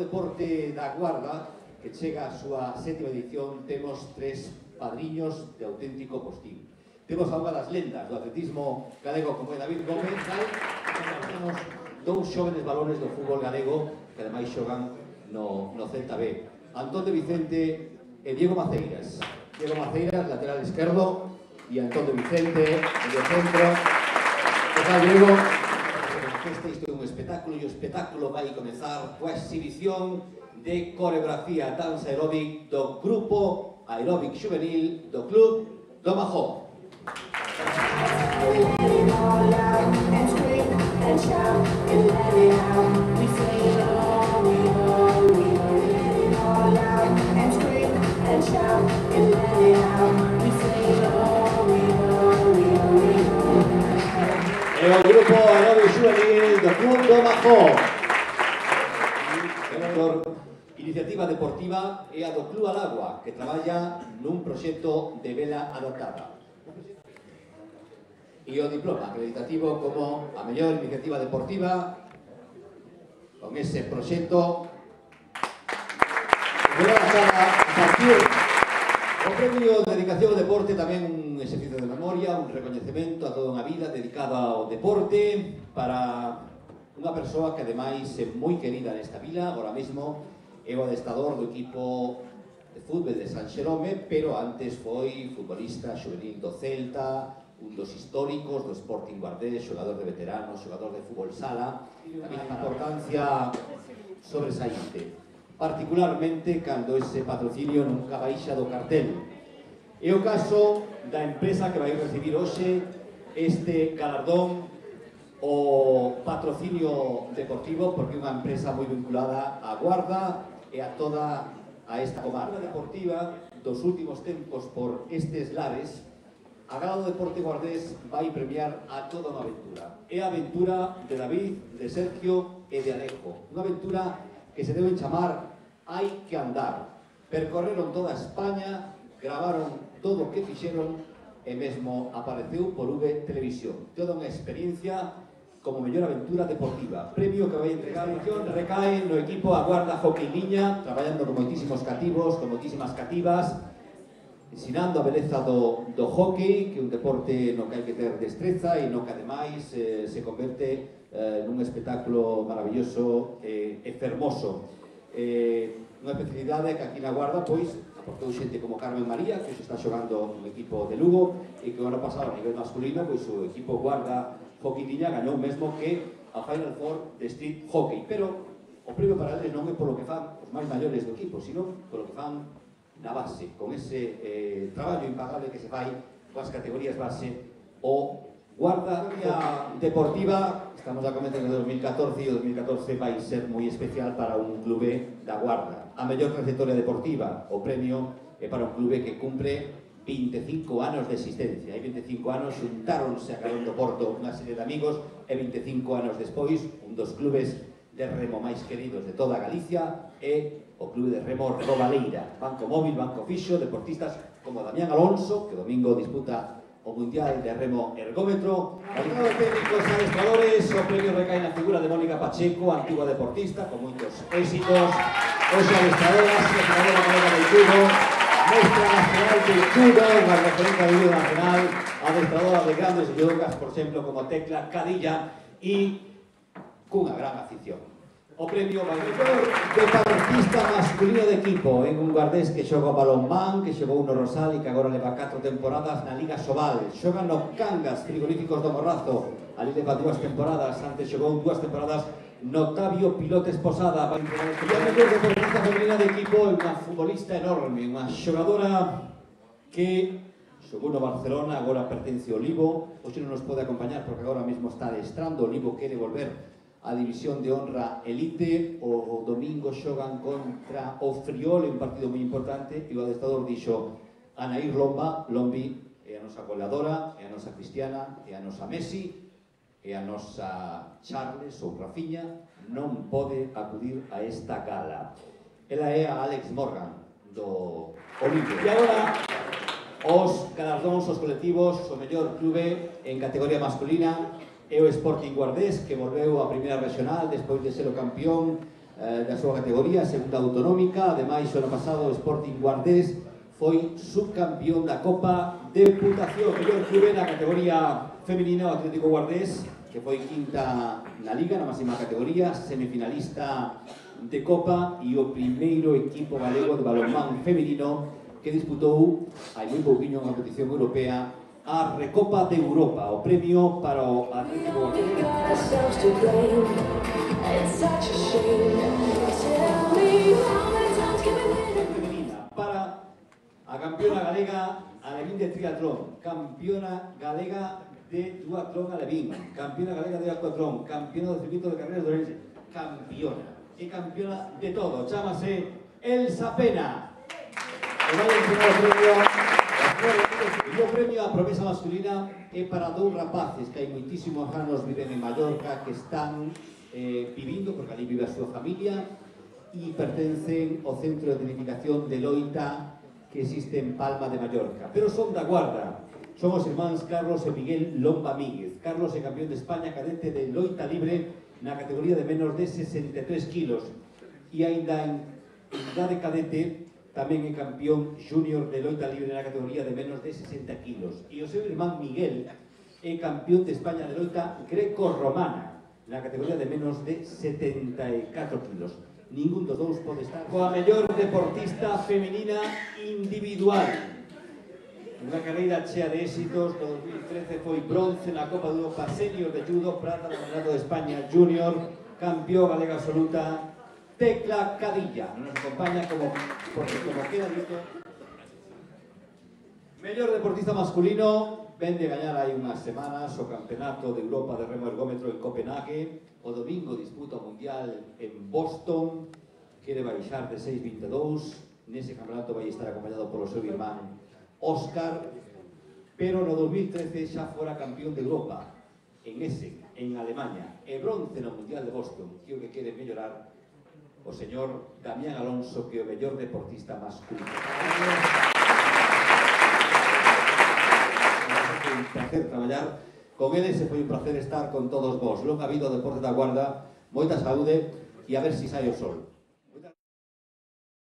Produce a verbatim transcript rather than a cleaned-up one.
deporte da Guarda, que chega a súa sétima edición, temos tres padriños de auténtico postín. Temos a unha das lendas do atletismo galego como é David Gómez, e temos dous xóvenes valores do fútbol galego que ademais xogan no, no Celta B. Antón de Vicente e Diego Maceiras. Diego Maceiras, lateral esquerdo, e Antón de Vicente, medio centro. Que tal, Diego? Este isto é un espectáculo e o espectáculo vai comezar coa exhibición de coreografía danza aeróbic do grupo aeróbic juvenil do Club do Majó. É o grupo aeróbic juvenil do Club do Majó. Iniciativa deportiva é a do Club Alagua, que traballa nun proxecto de vela adaptada. E o diploma acreditativo como a mellor iniciativa deportiva con ese proxecto vela adaptada a partir o premio de dedicación ao deporte, tamén un exercicio de memoria, un recoñecemento a toda unha vida dedicada ao deporte para unha persoa que ademais é moi querida nesta vila, agora mesmo é o adestador do equipo de fútbol de San Xerome, pero antes foi futbolista juvenil do Celta, un dos históricos do Sporting Guardés, xogador de veteranos, xogador de fútbol sala, tamén a importancia sobresaínte, particularmente cando ese patrocinio nunca baixa do cartel. É o caso da empresa que vai recibir hoxe este galardón, o patrocinio deportivo, porque é unha empresa moi vinculada á Guarda e a toda a esta comarca deportiva dos últimos tempos por estes lares. A Gala do Deporte Guardés vai premiar a toda unha aventura. É a aventura de David, de Sergio e de Alejo. Unha aventura que se deben chamar Hai que andar. Percorreron toda España, gravaron todo o que fixeron e mesmo apareceu por V Televisión. Toda unha experiencia como mellor aventura deportiva. Premio que vai entregar recae no equipo a Guarda Hockey Liña, traballando con moitísimos cativos, con moitísimas cativas, ensinando a beleza do, do hockey, que é un deporte no que hai que ter destreza e no que ademais eh, se converte eh, nun espectáculo maravilloso e eh, fermoso. Eh, unha especialidade que aquí na Guarda, pois, aportou xente como Carmen María, que se está xogando no equipo de Lugo, e que o ano pasado a nivel masculino, pois o equipo Guarda Hockey Liña gañou mesmo que a Final Four de Street Hockey, pero o premio para eles non é polo que fan os máis maiores do equipo, sino polo que fan na base, con ese eh, traballo impagable que se fai coas categorías base. O Guarda Deportiva, estamos a comenzar de dos mil catorce e o dos mil catorce vai ser moi especial para un clube da Guarda. A mellor trayectoria deportiva, o premio é para un clube que cumpre veinticinco anos de existencia. Hai veinticinco anos xuntáronse a Carón do Porto unha serie de amigos e veinticinco anos despois un dos clubes de remo máis queridos de toda Galicia é o Clube de Remo Robaleira. Banco móvil, banco fixo, deportistas como Damián Alonso, que domingo disputa o Mundial de Remo Ergómetro. Aliado técnicos e adestradores, o premio recae na figura de Mónica Pacheco, antigua deportista con moitos éxitos. Hoxe adestradoras, adestradora María del Cubo, Mestra Nacional de Judo, unha referente de judo nacional, adestradora de grandes judokas, por exemplo, como Tecla Cadilla, e cunha gran afición. O premio vai mellor deportista masculino de equipo en un guardés que xoga o balonmán, que xogou no Rosal e que agora leva catro temporadas na Liga Sobal. Xoga no Cangas, frigoríficos do Morrazo, ali leva dúas temporadas, antes xogou dúas temporadas no Octavio Pilotes Posada. E a mellor deportista femenina de equipo é unha futbolista enorme, unha xogadora que xogou no Barcelona, agora pertence ao Libo. Hoxe non nos pode acompañar porque agora mesmo está adestrando. O Libo quere volver a División de Honra Elite. O domingo xogan contra o Friol, un partido moi importante, e o adestrador dixo: Anaír Lomba, Lombi é a nosa goleadora, é a nosa Cristiana, é a nosa Messi, e a nosa Charles ou Rafiña non pode acudir a esta gala. Ela é a Alex Morgan do Olimpia. E agora os galardóns, os colectivos, o mellor clube en categoría masculina é o Sporting Guardés, que volveu a primeira regional despois de ser o campeón eh, da súa categoría, segunda autonómica. Ademais, o ano pasado o Sporting Guardés foi subcampeón da Copa Deputación. Mellor clube na categoría feminina, o Atlético Guardés, que foi quinta na Liga, na máxima categoría, semifinalista de Copa, e o primeiro equipo galego de balonmán feminino que disputou hai moi pouquiño unha competición europea, a Recopa de Europa, o premio para o Atlético Guardés. Femenina para a campeona galega alevín de triatlón, campeona galega de duatlón alevín, campeona galega de duatlón, campeona do circuito de carreras de Ourense, campeona e campeona de todo, chámase Elsa Pena. E vai entregar o premio, e o premio a promesa masculina é para dous rapaces que hai moitísimos anos viven en Mallorca, que están eh, vivindo, porque ali vive a súa familia, e pertencen ao centro de tecnificación de Loita que existe en Palma de Mallorca, pero son da Guarda. Son os irmáns Carlos e Miguel Lomba Míguez. Carlos é campeón de España cadete de Loita libre na categoría de menos de sesenta e tres kilos, e aínda en idade cadete tamén é campeón júnior de loita libre na categoría de menos de sesenta kilos. E o seu irmán Miguel é campeón de España de loita greco-romana na categoría de menos de setenta e catro kilos. Ningún dos dous pode estar coa mellor deportista femenina individual. Unha carreira chea de éxitos. No dos mil trece foi bronce na Copa de Europa Senior de Judo, prata no Campeonato de España Júnior, campeón galega absoluta, Tecla Cadilla. Non nos acompaña como, porque como queda dito. Mellor deportista masculino, ven de gañar hai unhas semanas o Campeonato de Europa de Remo Ergómetro en Copenhague. O domingo disputa o Mundial en Boston, quere baixar de seis vinte e dous. Nese campeonato vai estar acompañado polo seu irmán Óscar, pero no dos mil trece xa fora campeón de Europa en Essen, en Alemanha, e bronce no Mundial de Boston. E o que quere mellorar o señor Damián Alonso, que é o mellor deportista masculino. Foi un placer traballar con eles e foi un placer estar con todos vos. Longa vida ao deporte da Guarda, moita saúde e a ver si sai o sol.